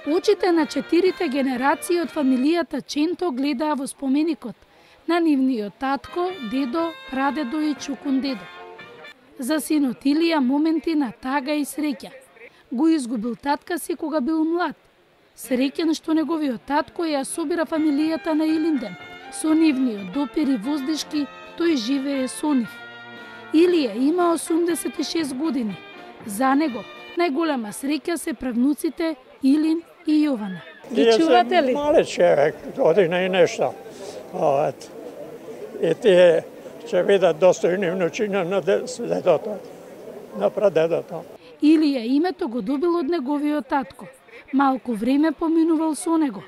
Очите на 4 генерации од фамилијата Ченто гледаа во споменикот на нивниот татко, дедо, прадедо и чукун дедо. За синот Илија моменти на тага и среќа. Го изгубил татка си кога бил млад. Среќен што неговиот татко ја собира фамилијата на Илинден. Со нивниот допир и воздишки тој живее со нив. Илија има 86 години. За него најголема среќа се правнуците Илин и Јована. Ги чувате ли? Мале човек, година и нешто. И тие ќе бидат достојни внучиња на дедото, на прадедото. Илија името го добил од неговиот татко. Малку време поминувал со него,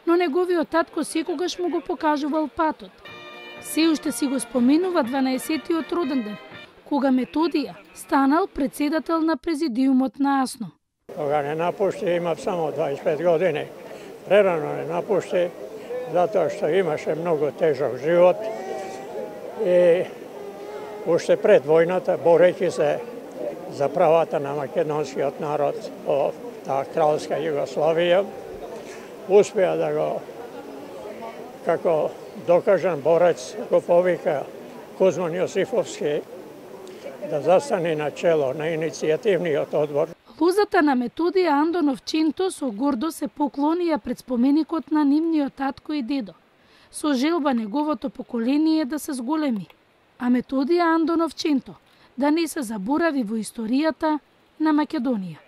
но неговиот татко секогаш му го покажувал патот. Се уште си го споменува 12-тиот роден ден, кога Методија станал председател на президиумот на АСНО. Кога не напушти, имав само 25 години. Прерано не напушти, затоа што имаше многу тежок живот и уште пред војната, борејќи се за правата на македонскиот народ во таа кралска Југославија, успеа да го, како докажан борец, го повика Кузман Јосифовски да застане на чело на иницијативниот одбор. Лозата на Методија Андонов Ченто со гордо се поклонија пред споменикот на нивниот татко и дедо, со желба неговото поколение да се зголеми, а Методија Андонов Ченто да не се заборави во историјата на Македонија.